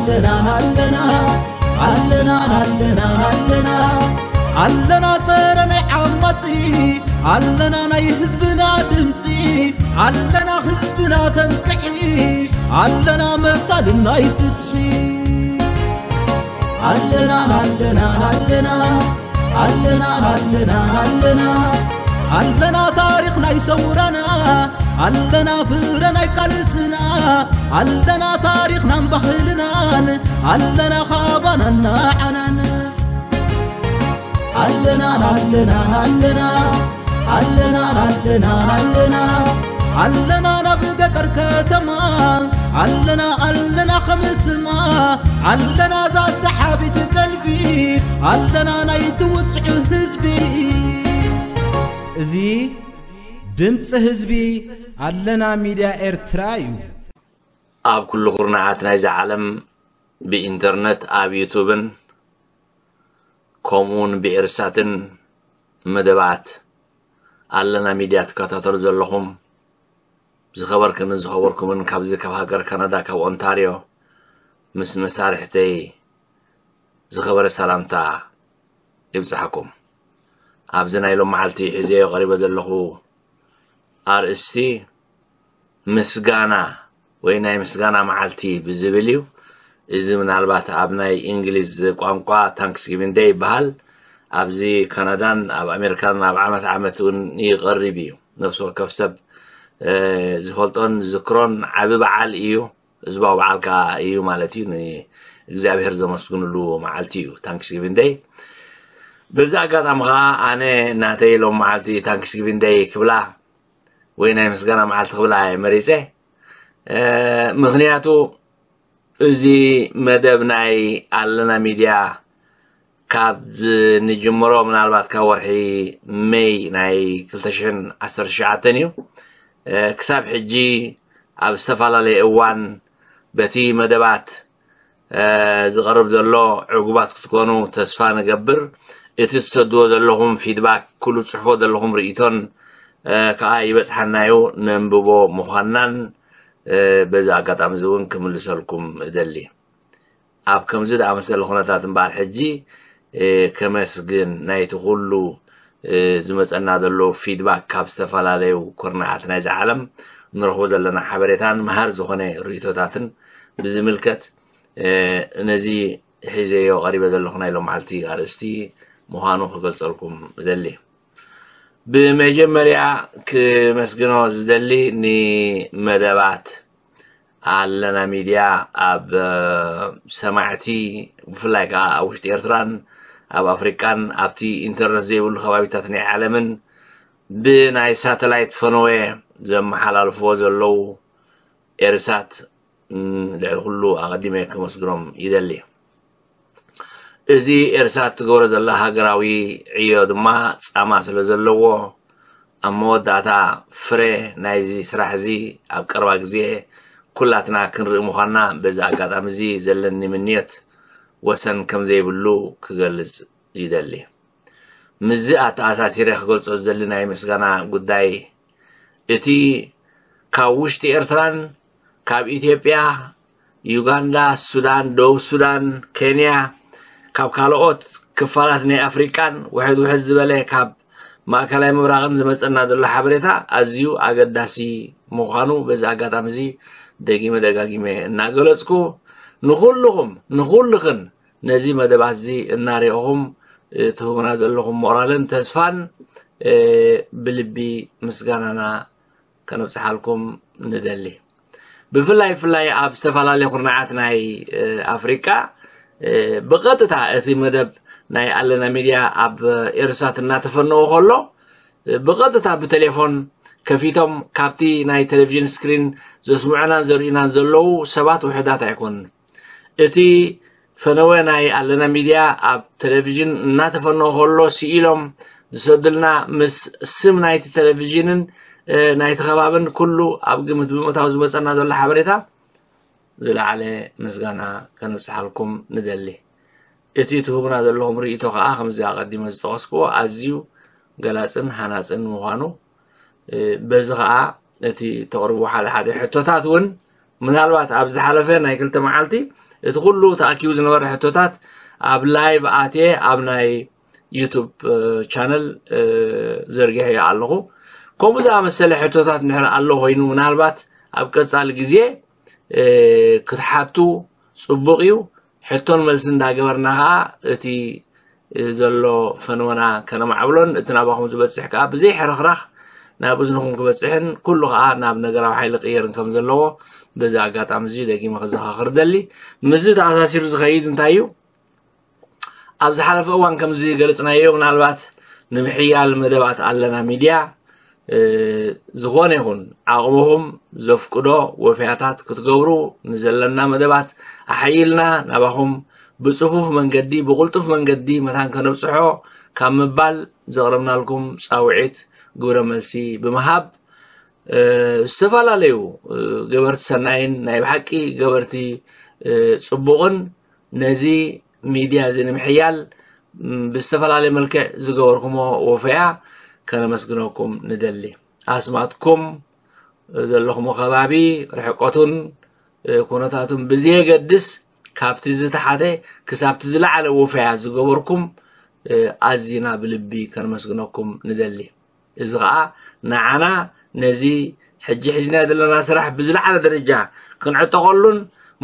ኣለና ኣለና ኣለና ኣለና ኣለና ኣለና ጸረ ናይ ዓማጺ ኣለና ናይ ህዝብና ድምጺ ኣለና ህዝብና ተንቅሒ ኣለና መሳልን ናይ ፍትሒ ኣለና ኣለና ኣለና ኣለና ኣለና ኣለና ኣለና ታሪኽ ናይ ሰውራና ኣለና ፍረ ናይ ቃልስና ኣለና ታሪኽናን ባህልናን ኣለና ካባናን ንዓናን ኣለና ኣለና ኣለና ኣለና ኣለና ኣለና ኣለና ናብ ገጠር ከተማ ኣለና ኣለና ከምስማ ኣለና ዛሰሓቢት ቀልቢ ኣለና ናይ ትውፅዑ ህዝቢ እዚ ድምፂ ህዝቢ ኣለና ሚድያ ኤርትራ እዩ። ኣብ ኩሉ ኩርናዓት ናይዛ ዓለም ብኢንተርነት ኣብ ዩቱብን ከምኡውን ብኤርሳትን መደባት ኣለና ሚድያ ትከታተሉ ዘለኹም ዝኸበርክንን ዝኸበርኩምን ካብዚ ካብ ሃገር ካናዳ ካብ ኦንታርዮ ምስ መሳርሕተይ ዝኸበረ ሰላምታ ይብጽሓኩም። ኣብዚ ናይ ሎም መዓልቲ ሒዘዮ ቀሪበ ዘለኹ ኣርእስቲ ምስጋና ወይ ናይ ምስጋና መዓልቲ ብዝብል እዩ። እዚ ምናልባት ኣብ ናይ እንግሊዝ ቋንቋ ታንክስጊቪን ደይ ይበሃል። ኣብዚ ካናዳን ኣብ ኣሜሪካን ኣብ ዓመት ዓመት እውን ይቐርብ እዩ። ነፍሲ ወከፍ ሰብ ዝፈልጦን ዝዝክሮን ዓቢ በዓል እዩ። ህዝባዊ በዓል ከዓ እዩ ማለት እዩ። ንእግዚኣብሔር ዘመስግንሉ መዓልቲ እዩ ታንክስጊቪን ደይ። በዚ ኣጋጣሚ ከዓ ኣነ ናተይ ሎም መዓልቲ ታንክስጊቪን ደይ ክብላ ወይ ናይ ምስጋና መዓልቲ ክብላ እየ መሪፀ። ምክንያቱ እዚ መደብ ናይ ኣለና ሚድያ ካብ ንጅምሮ ምናልባት ካብ ወርሒ መይ ናይ ክልተ ሽሕን ዓሰርተ ትሽዓተን እዩ። ክሳብ ሕጂ ኣብ ዝተፈላለየ እዋን በቲ መደባት ዝቐርብ ዘሎ ዕጉባት ክትኮኑ ተስፋ ንገብር። እቲ ትሰድዎ ዘለኹም ፊድባክ ኩሉ ትፅሕፎ ዘለኹም ርእቶን ከዓ ይበፅሓናዩ ነንብቦ ምዃንናን በዚ ኣጋጣሚ እዚ እውን ክምልሰልኩም እደሊ። ኣብ ከምዚ ዝኣመሰለ ኩነታት እምበኣር ሕጂ ከመስግን ናይቲ ኩሉ ዝመፀና ዘሎ ፊድባክ ካብ ዝተፈላለዩ ኩርናዓት ናይዚ ዓለም ንረኽቦ ዘለና ሓበሬታን መሃር ዝኾነ ርእቶታትን ብዝምልከት ነዚ ሒዘዮ ቀሪበ ዘለኹ ናይ ሎም መዓልቲ ኣርእስቲ ምዃኑ ክገልጸልኩም እደሊ። ብመጀመርያ ክመስግኖ ዝደሊ ንመደባት ኣለና ሚድያ ኣብ ሰማዕቲ ብፍላይ ከዓ ኣብ ውሽጢ ኤርትራን ኣብ ኣፍሪቃን ኣብቲ ኢንተርነት ዘይብሉ ከባቢታት ናይ ዓለምን ብናይ ሳተላይት ፈነወ ዘመሓላልፍዎ ዘለዉ ኤርሳት ልዕሊ ኩሉ ኣቐዲመ ከመስግኖም ይደሊ። እዚ ኤርሳት ትገብሮ ዘላ ሃገራዊ ዕዮ ድማ ጻማ ስለ ዘለዎ ኣብ መወዳእታ ፍረ ናይዚ ስራሕ እዚ ኣብ ቀረባ ግዜ ኩላትና ክንርኢ ምዃንና በዚ ኣጋጣሚ እዚ ዘለኒ ምንዮት ወሰን ከም ዘይብሉ ክገልጽ ይደሊ። ምስዚ ኣተኣሳሲረ ክገልጾ ዝደሊ ናይ ምስጋና ጉዳይ እቲ ካብ ውሽጢ ኤርትራን ካብ ኢትዮጵያ፣ ዩጋንዳ፣ ሱዳን፣ ደቡብ ሱዳን፣ ኬንያ፣ ካብ ካልኦት ክፋላት ናይ ኣፍሪቃን ውሕድ ውሕድ ዝበለ ካብ ማእከላይ ምብራቕን ዝመጸና ዘሎ ሓበሬታ ኣዝዩ ኣገዳሲ ምዃኑ በዚ ኣጋጣሚ እዚ ደጊመ ደጋጊመ እናገለጽኩ ንኹልኹም ንኹልኽን ነዚ መደባት እዚ እናሪእኹም ትህቡና ዘለኹም ሞራልን ተስፋን ብልቢ ምስጋናና ከነብፅሓልኩም ንደሊ። ብፍላይ ብፍላይ ኣብ ዝተፈላለዩ ኩርናዓት ናይ ኣፍሪቃ ብቐጥታ እቲ መደብ ናይ ኣለና ሚድያ ኣብ ኤርሳት እናተፈነወ ከሎ ብቐጥታ ብቴሌፎን ከፊቶም ካብቲ ናይ ቴሌቪዥን ስክሪን ዘስምዑናን ዘርእዩናን ዘለዉ ሰባት ውሕዳት ኣይኮኑን። እቲ ፈነወ ናይ ኣለና ሚድያ ኣብ ቴሌቪዥን እናተፈነወ ከሎ ስኢሎም ዝሰዱልና ምስ ስም ናይቲ ቴሌቪዥንን ናይቲ ከባብን ኩሉ ኣብ ግምት ብምእታው ዝመፀና ዘሎ ሓበሬታ ዝለዓለ ምስጋና ከነብፅሓልኩም ንደሊ። እቲ ትህቡና ዘለኹም ርእይቶ ከዓ ከምዚ ኣቐዲመ ዝጠቐስክዎ ኣዝዩ ገላፅን ሃናፅን ምዃኑ በዚ ከዓ እቲ ተቕርቡ ሓደ ሓደ ሕቶታት እውን ምናልባት ኣብ ዝሓለፈ ናይ ክልተ መዓልቲ እቲ ኩሉ ተኣኪቡ ዝነበረ ሕቶታት ኣብ ላይቭ ኣትየ ኣብ ናይ ዩቱብ ቻነል ዘርጊሐ ኣለኹ። ከምኡ ዝኣመሰለ ሕቶታት እንድሕር ኣሎ ኮይኑ ምናልባት ኣብ ቀጻሊ ግዜ ክትሓቱ ጽቡቕ እዩ። ሕቶን መልሲ እንዳገበርና ከዓ እቲ ዘሎ ፈነወና ከነማዕብሎን እቲ ናባኹም ዝበፅሕ ከዓ ብዘይ ሕርኽራኽ ናብ እዝንኹም ክበፅሕን ኩሉ ከዓ ናብ ነገራዊ ሓይሊ ቅየርን ከም ዘለዎ በዚ ኣጋጣሚ እዚ ደጊመ ክዘኻኽር ደሊ። ምስዚ ተኣሳሲሩ ዝኸይድ እንታይ እዩ? ኣብ ዝሓለፈ እዋን ከም ዝገለፅናዮ ምናልባት ንምሕያል መደባት ኣለና ሚድያ ዝኾነ ይኹን ዓቕምኹም ዘፍቅዶ ወፍያታት ክትገብሩ ንዘለና መደባት ኣሓይልና ናባኹም ብፅፉፍ መንገዲ ብቕልጡፍ መንገዲ መታን ከነብፅሖ ካብ ምባል ዘቕረብናልኩም ፃውዒት ግብረ መልሲ ብምሃብ ዝተፈላለዩ ገበርቲ ሰናይን ናይ ብሓቂ ገበርቲ ፅቡቕን ነዚ ሚድያ እዚ ንምሕያል ብዝተፈላለየ መልክዕ ዝገበርኩሞ ወፈያ ከነመስግነኩም ንደሊ። ኣስማትኩም ዘለኹሞ ከባቢ ርሕቀቱን ኩነታቱን ብዘየገድስ ካብቲ ዝተሓተ ክሳብቲ ዝለዓለ ወፈያ ዝገበርኩም ኣዚና ብልቢ ከነመስግነኩም ንደሊ። እዚ ከዓ ንዓና ነዚ ሕጂ ሒዝናዮ ዘለና ስራሕ ብዝለዓለ ደረጃ ክንዕጠቐሉን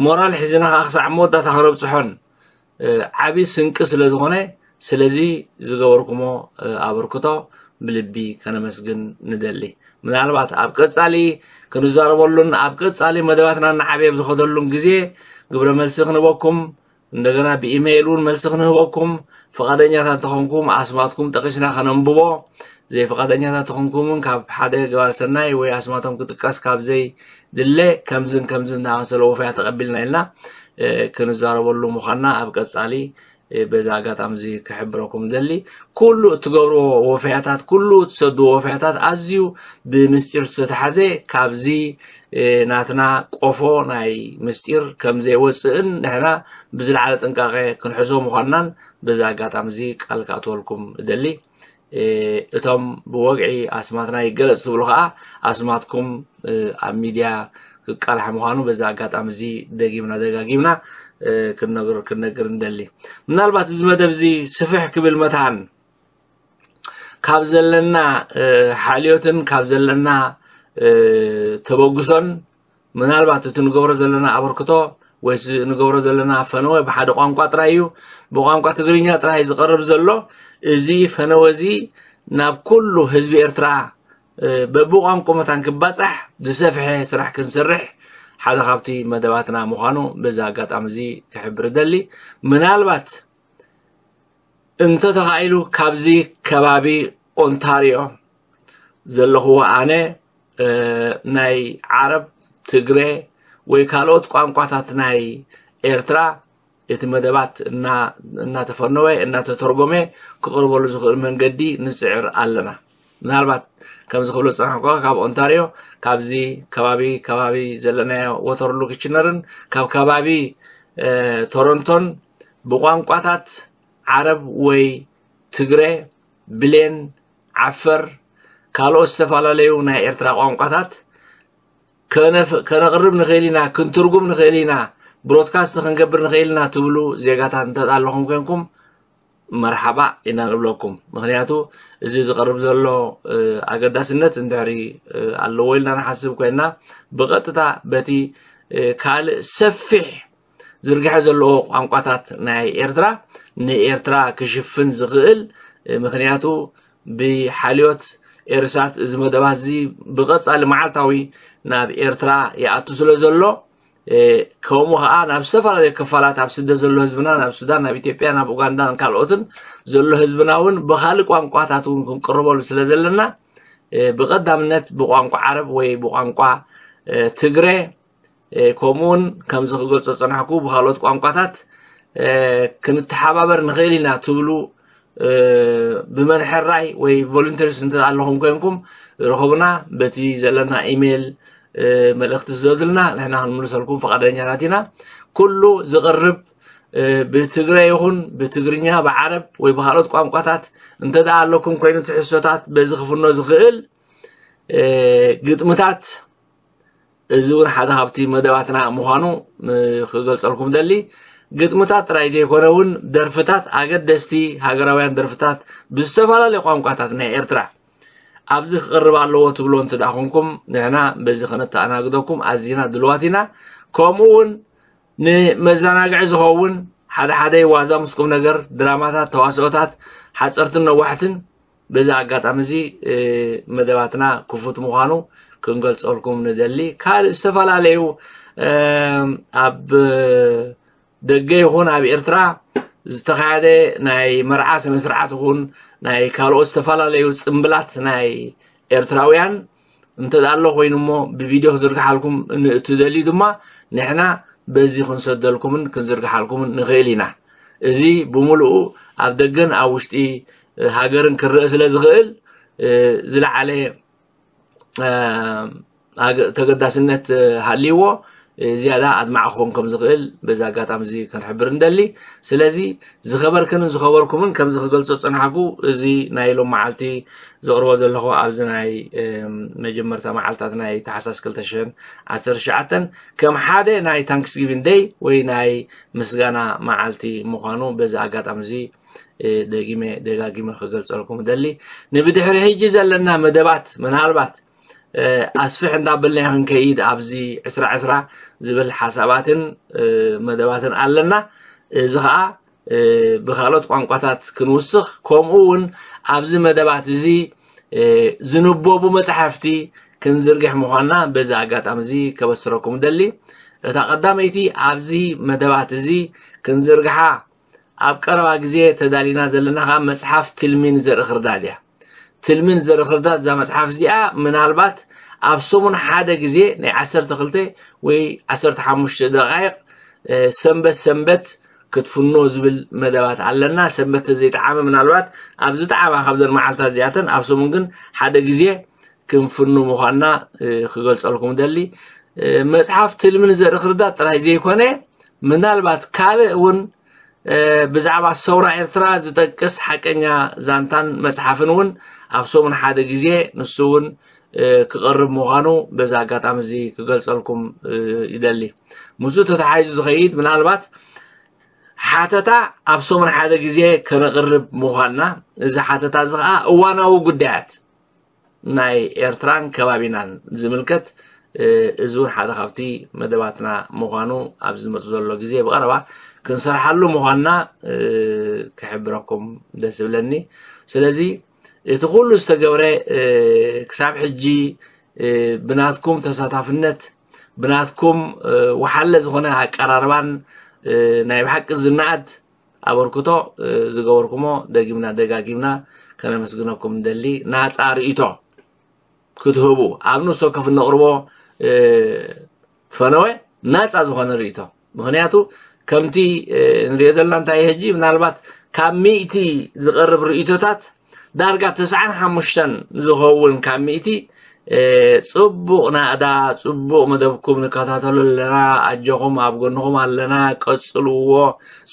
ሞራል ሒዝና ከዓ ክሳዕ መወዳእታ ከነብፅሖን ዓብዪ ስንቂ ስለ ዝኾነ ስለዚ ዝገበርኩሞ ኣበርክቶ ብልቢ ከነመስግን ንደሊ። ምናልባት ኣብ ቀፃሊ ክንዛረበሉን ኣብ ቀፃሊ መደባትና እናዓበየ ኣብ ዝኸደሉን ግዜ ግብረ መልሲ ክንበኩም እንደገና ብኢሜይል እውን መልሲ ክንህበኩም ፍቓደኛታት ተኾንኩም ኣስማትኩም ጠቂስና ከነንብቦ ዘይፍቓደኛታት ተኾንኩም እውን ካብ ሓደ ገባር ሰናይ ወይ ኣስማቶም ክጥቀስ ካብ ዘይድለ ከምዝን ከምዝን እናመሰለ ወፈያ ተቐቢልና ኢልና ክንዛረበሉ ምዃንና ኣብ ቀፃሊ በዚ ኣጋጣሚ እዚ ክሕብረኩም ደሊ። ኩሉ እትገብርዎ ወፈያታት ኩሉ እትሰድዎ ወፈያታት ኣዝዩ ብምስጢር ዝተተሓዘ ካብዚ ናትና ቆፎ ናይ ምስጢር ከም ዘይወፅእን ንሕና ብዝለዓለ ጥንቃቄ ክንሕዞ ምዃንናን በዚ ኣጋጣሚ እዚ ቃል ክኣትወልኩም እደሊ። እቶም ብወግዒ ኣስማትና ይገለፅ ትብሉ ከዓ ኣስማትኩም ኣብ ሚድያ ክቃልሓ ምዃኑ በዚ ኣጋጣሚ እዚ ደጊምና ደጋጊምና ክንነግር ክንነግር እንደሊ። ምናልባት እዚ መደብ እዚ ስፍሕ ክብል መታን ካብ ዘለና ሓልዮትን ካብ ዘለና ተበግሶን ምናልባት እቲ ንገብሮ ዘለና ኣበርክቶ ወይ ንገብሮ ዘለና ፈነወ ብሓደ ቋንቋ ጥራይ እዩ፣ ብቋንቋ ትግርኛ ጥራይ ዝቐርብ ዘሎ። እዚ ፈነወ እዚ ናብ ኩሉ ህዝቢ ኤርትራ በብቋንቋ መታን ክባጻሕ ዝሰፍሐ ስራሕ ክንሰርሕ ሓደ ካብቲ መደባትና ምዃኑ በዚ ኣጋጣሚ እዚ ክሕብር እደሊ። ምናልባት እንተተኻኢሉ ካብዚ ከባቢ ኦንታሪዮ ዘለኹዎ ኣነ ናይ ዓረብ፣ ትግረ ወይ ካልኦት ቋንቋታት ናይ ኤርትራ እቲ መደባት እናተፈነወ እናተተርጎመ ክቕርበሉ ዝኽእል መንገዲ ንፅዕር ኣለና። ምናልባት ከምዚ ክብሎ ዝፀናሕኩ ካብ ኦንታሪዮ ካብዚ ከባቢ ከባቢ ዘለናዮ ወተርሉ ክችነርን ካብ ከባቢ ቶሮንቶን ብቋንቋታት ዓረብ ወይ ትግረ፣ ብሌን፣ ዓፈር፣ ካልኦት ዝተፈላለዩ ናይ ኤርትራ ቋንቋታት ከነቕርብ ንኽእል ኢና፣ ክንትርጉም ንኽእል ኢና፣ ብሮድካስት ክንገብር ንኽእል ኢና ትብሉ ዜጋታት እንተ ኣለኹም ኮንኩም መርሓባ ኢና ንብለኩም። ምኽንያቱ እዚ ዝቐርብ ዘሎ ኣገዳስነት እንድሕሪ ኣለዎ ኢልና ንሓስብ ኮይና ብቐጥታ በቲ ካልእ ሰፊሕ ዝርግሐ ዘለዎ ቋንቋታት ናይ ኤርትራ ንኤርትራ ክሽፍን ዝኽእል ምኽንያቱ ብሓልዮት ኤርሳት እዚ መደባት እዚ ብቐጻሊ መዓልታዊ ናብ ኤርትራ ይኣቱ ስለ ዘሎ ከምኡ ከዓ ናብ ዝተፈላለዩ ክፋላት ኣብ ስደት ዘሎ ህዝብና ናብ ሱዳን ናብ ኢትዮጵያ ናብ ኡጋንዳን ካልኦትን ዘሎ ህዝብና እውን ብካልእ ቋንቋታት እውን ክንቅርበሉ ስለ ዘለና ብቐዳምነት ብቋንቋ ዓረብ ወይ ብቋንቋ ትግረ ከምኡውን ከምዚ ክገልጾ ዝጸናሕኩ ብካልኦት ቋንቋታት ክንተሓባበር ንኽእል ኢና ትብሉ ብመን ሕራይ ወይ ቮሉንተርስ እንተ ኣለኹም ኮይንኩም ርኸቡና በቲ ዘለና ኢሜይል መልእኽቲ ስደዱልና ንሕና ክንምልሰልኩም ፈቓደኛታት ኢና። ኩሉ ዝቕርብ ብትግረ ይኹን ብትግርኛ ብዓረብ ወይ ብካልኦት ቋንቋታት እንተ ደኣ ኣለኩም ኮይኑ ትሕዝቶታት በዚ ክፍኖ ዝኽእል ግጥምታት እዚ እውን ሓደ ካብቲ መደባትና ምዃኑ ክገልጸልኩም ደሊ። ግጥምታት ጥራይ ዘይኮነ እውን ደርፍታት፣ ኣገደስቲ ሃገራውያን ደርፍታት ብዝተፈላለዩ ቋንቋታት ናይ ኤርትራ ኣብዚ ክቕርብ ኣለዎ ትብሎ እንተ ደኣ ኮንኩም፣ ንሕና በዚ ከነተኣናግደኩም ኣዚና ድልዋት ኢና። ከምኡ እውን ንመዘናግዒ ዝኸውን ሓደ ሓደ ዋዛ ምስ ቁም ነገር፣ ድራማታት፣ ተዋስኦታት ሓጸርትን ነዋሕትን በዚ ኣጋጣሚ እዚ መደባትና ክፉት ምዃኑ ክንገልጸልኩም ንደሊ። ካልእ ዝተፈላለዩ ኣብ ደገ ይኹን ኣብ ኤርትራ ዝተኻየደ ናይ መርዓ ስነ ስርዓት ይኹን ናይ ካልኦት ዝተፈላለዩ ጽምብላት ናይ ኤርትራውያን እንተ ኣሎ ኮይኑ እሞ ብቪድዮ ክዝርግሓልኩም ንእትደልዩ ድማ ንሕና በዚ ክንሰደልኩምን ክንዝርግሓልኩምን ንኽእል ኢና። እዚ ብምሉኡ ኣብ ደገን ኣብ ውሽጢ ሃገርን ክረአ ስለ ዝኽእል ዝለዓለ ተገዳስነት ሃልይዎ ዝያዳ ኣድማዕ ክኾን ከም ዝኽእል በዚ ኣጋጣሚ እዚ ክንሕብር እንደሊ። ስለዚ ዝኸበርክንን ዝኸበርኩምን ከምዚ ክገልጾ ዝጸናሕኩ፣ እዚ ናይ ሎም መዓልቲ ዘቕርቦ ዘለኹ ኣብዚ ናይ መጀመርታ መዓልታት ናይ ታሕሳስ ክልተ ሽሕን ዓሰርተ ትሽዓተን ከም ሓደ ናይ ታንክስጊቪን ደይ ወይ ናይ ምስጋና መዓልቲ ምዃኑ በዚ ኣጋጣሚ እዚ ደጊመ ደጋጊመ ክገልጸልኩም እደሊ። ንብድሕሪ ሕጂ ዘለና መደባት ምናልባት ኣስፍሕ እንዳበልና ክንከይድ ኣብዚ ዕስራ ዕስራ ዝብል ሓሳባትን መደባትን ኣለና። እዚ ኸኣ ብኻልኦት ቋንቋታት ክንውስኽ፣ ከምኡ እውን ኣብዚ መደባት እዚ ዝንበቡ መጻሕፍቲ ክንዝርግሕ ምዃንና በዚ ኣጋጣሚ እዚ ከበስረኩም እደሊ። እታ ቀዳመይቲ ኣብዚ መደባት እዚ ክንዝርግሓ ኣብ ቀረባ ግዜ ተዳሊና ዘለና ኸዓ መጽሓፍ ትልሚን ዘርኢ ክርዳድ እያ። ትልሚን ዘርኢ ክርዳድ እዛ መጽሓፍ እዚኣ ምናልባት ኣብ ሰሙን ሓደ ግዜ ናይ ዓሰርተ ክልተ ወይ ዓሰርተ ሓሙሽተ ደቓይቕ ሰንበት ሰንበት ክትፍኖ ዝብል መደባት ኣለና። ሰንበት ዘይጠዓመ ምናልባት ኣብ ዝጠዓማ ካብዘን መዓልታት እዚኣተን ኣብ ሰሙን ግን ሓደ ግዜ ክንፍኑ ምዃንና ክገልጸልኩም ደሊ። መጽሓፍ ትልምን ዘርኢ ክርዳድ ጥራይ ዘይኮነ ምናልባት ካልእ እውን ብዛዕባ ሰውራ ኤርትራ ዝጠቅስ ሓቀኛ ዛንታን መጽሓፍን እውን ኣብ ሰሙን ሓደ ግዜ ንሱ እውን ክቐርብ ምዃኑ በዚ ኣጋጣሚ እዚ ክገልጸልኩም ይደሊ። ምስኡ ተተሓሒዙ ዝኸይድ ምናልባት ሓተታ ኣብ ሰሙን ሓደ ግዜ ከነቕርብ ምዃንና፣ እዚ ሓተታ እዚ ኸዓ እዋናዊ ጉዳያት ናይ ኤርትራን ከባቢናን ዝምልከት እዚ እውን ሓደ ካብቲ መደባትና ምዃኑ ኣብ ዝመጽእ ዘሎ ግዜ ብቐረባ ክንሰርሓሉ ምዃንና ክሕብረኩም ደስ ይብለኒ። ስለዚ እቲ ኩሉ ዝተገብረ ክሳብ ሕጂ ብናትኩም ተሳታፍነት ብናትኩም ወሓለ ዝኾነ ኣቀራርባን ናይ ብሓቂ ዝነኣድ ኣበርክቶ ዝገበርኩሞ ደጊምና ደጋጊምና ከነመስግነኩም እንደሊ። ናፃ ርእይቶ ክትህቡ ኣብ ንሶ ከፍ ነቕርቦ ፈነወ ናፃ ዝኾነ ርእይቶ። ምኽንያቱ ከምቲ ንሪኦ ዘለና እንታይ ሕጂ ምናልባት ካብ ሚእቲ ዝቐርብ ርእይቶታት ዳርጋ ተስዓን ሓሙሽተን ዝኸውን ካብ ሚእቲ ጽቡቕ ናእዳ፣ ጽቡቕ መደብኩም ንከታተሎ ኣለና፣ ኣጆኹም ኣብ ጎንኹም ኣለና፣ ቀጽልዎ፣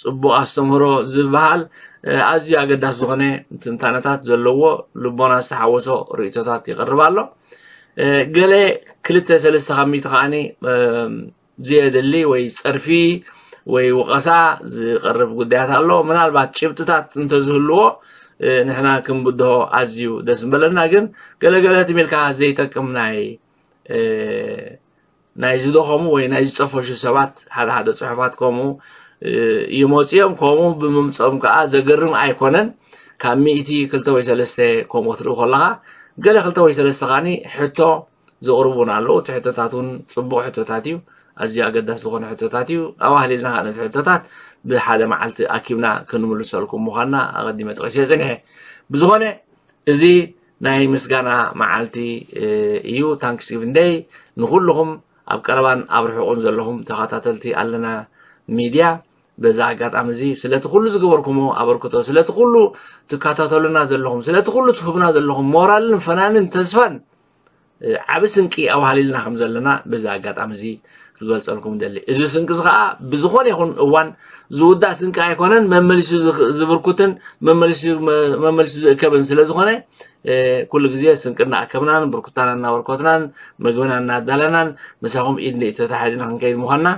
ጽቡቕ ኣስተምህሮ ዝበሃል ኣዝዩ ኣገዳሲ ዝኾነ ትንታነታት ዘለዎ ልቦና ዝተሓወሶ ርእይቶታት ይቐርብ ኣሎ። ገለ ክልተ ሰለስተ ካብ ሚእቲ ከዓኒ ዘየድሊ ወይ ጸርፊ ወይ ወቐሳ ዝቐርብ ጉዳያት ኣሎ። ምናልባት ጭብጥታት እንተዝህልዎ ንሕና ክንብድሆ ኣዝዩ ደስ ምበለና። ግን ገለገለ ትም ኢልካ ዘይጠቅም ናይ ናይ ዝደኸሙ ወይ ናይ ዝጠፈሹ ሰባት ሓደ ሓደ ጽሑፋት ከምኡ ይመጽኦም። ከምኡ ብምምጽኦም ከዓ ዘገርም ኣይኮነን። ካብ ሚእቲ ክልተ ወይ ሰለስተ ከምኡ ክትርኢ ከለኻ ገለ ክልተ ወይ ሰለስተ ከዓኒ ሕቶ ዘቕርቡን ኣለዉ። እቲ ሕቶታት እውን ጽቡቕ ሕቶታት እዩ። ኣዝዩ ኣገዳሲ ዝኾነ ሕቶታት እዩ። ኣዋህሊልና ከዓ ነቲ ሕቶታት ብሓደ መዓልቲ ኣኪብና ክንምልሰልኩም ምዃንና ኣቐዲመ ጠቒሰ ጽኒሐ። ብዝኾነ እዚ ናይ ምስጋና መዓልቲ እዩ፣ ታንክስጊቪን ደይ። ንኹልኹም ኣብ ቀረባን ኣብ ርሑቕን ዘለኹም ተኸታተልቲ ኣለና ሚድያ በዛ ኣጋጣሚ እዚ ስለቲ ኩሉ ዝገበርኩሞ ኣበርክቶ፣ ስለቲ ኩሉ ትከታተሉና ዘለኹም፣ ስለቲ ኩሉ ትህቡና ዘለኹም ሞራልን ፈናንን ተስፋን ዓቢ ስንቂ ኣዋሃሊልና ከም ዘለና በዚ ኣጋጣሚ እዚ ክገልጸልኩም ደሊ። እዚ ስንቂ እዚ ከዓ ብዝኾነ ይኹን እዋን ዝውዳእ ስንቂ ኣይኮነን፣ መመሊሱ ዝብርኩትን መመሊሱ ዝእከብን ስለ ዝኾነ ኩሉ ግዜ ስንቅና ኣከብናን ብርኩታና እናበርከትናን ምግብና እናዳለናን ምሳኹም ኢድ ንኢድ ተታሒዝና ክንከይድ ምዃንና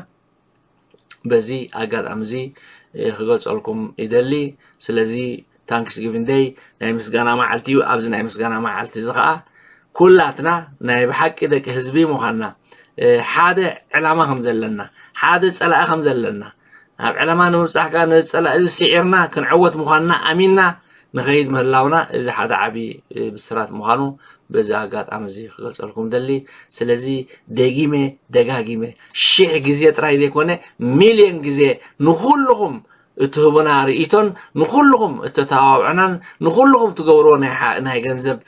በዚ ኣጋጣሚ እዚ ክገልፀልኩም ይደሊ። ስለዚ ታንክስ ጊቪንግ ደይ ናይ ምስጋና መዓልቲ እዩ። ኣብዚ ናይ ምስጋና መዓልቲ እዚ ከዓ ኩላትና ናይ ብሓቂ ደቂ ህዝቢ ምዃንና ሓደ ዕላማ ከም ዘለና ሓደ ፀላኢ ከም ዘለና ኣብ ዕላማ ንምብፃሕ ከዓ ነዚ ፀላኢ እዚ ስዒርና ክንዕወት ምዃንና ኣሚንና ንኸይድ ምህላውና እዚ ሓደ ዓቢ ብስራት ምዃኑ በዚ ኣጋጣሚ እዚ ክገልፀልኩም ደሊ። ስለዚ ደጊመ ደጋጊመ ሽሕ ግዜ ጥራይ ዘይኮነ ሚልዮን ግዜ ንኹልኹም እትህቡና ርእይቶን ንኹልኹም እተተባብዑናን ንኹልኹም ትገብርዎ ናይ ገንዘብ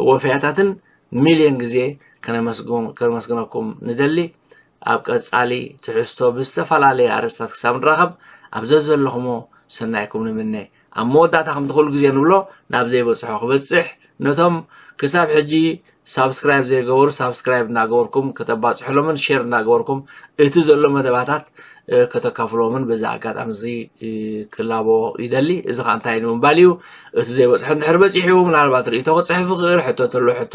ወፈያታትን ሚልዮን ግዜ ከነመስግነኩም ንደሊ። ኣብ ቀጻሊ ትሕዝቶ ብዝተፈላለየ ኣርእስታት ክሳብ ንራኸብ ኣብ ዘዘለኹሞ ሰናይኩም ንምነ። ኣብ መወዳእታ ከምቲ ኩሉ ግዜ ንብሎ ናብ ዘይበጽሖ ክበጽሕ ነቶም ክሳብ ሕጂ ሳብስክራይብ ዘይገበሩ ሳብስክራይብ እናገበርኩም ከተባፅሕሎምን ሼር እናገበርኩም እቲ ዘሎ መደባታት ከተካፍሎምን በዚ ኣጋጣሚ እዚ ክላቦ ይደሊ። እዚ ከዓ እንታይ ንምባል እዩ? እቲ ዘይበፅሖ እንድሕር በፂሑ ምናልባት ርእቶ ክፅሕፍ ይኽእል፣ ሕቶ ተሎ ሕቶ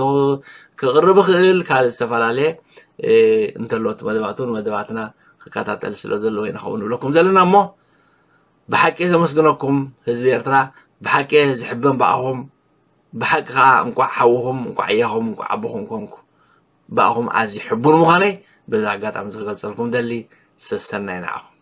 ክቕርብ ይኽእል፣ ካልእ ዝተፈላለየ እንተሎ እቲ መደባት እውን መደባትና ክከታተል ስለ ዘለዎ ኢና ከምኡ ንብለኩም ዘለና እሞ ብሓቂ ዘመስግነኩም ህዝቢ ኤርትራ ብሓቂ ዝሕበን ብኣኹም ብሓቂ ከዓ እንቋዕ ሓውኹም እንቋዕ ኣያኹም እንቋዕ ኣቦኹም ኮንኩ ብኣኹም ኣዝዩ ሕቡን ምዃነይ በዚ ኣጋጣሚ ዝገልፀልኩም ደሊ ሰሰናይ ንዓኹም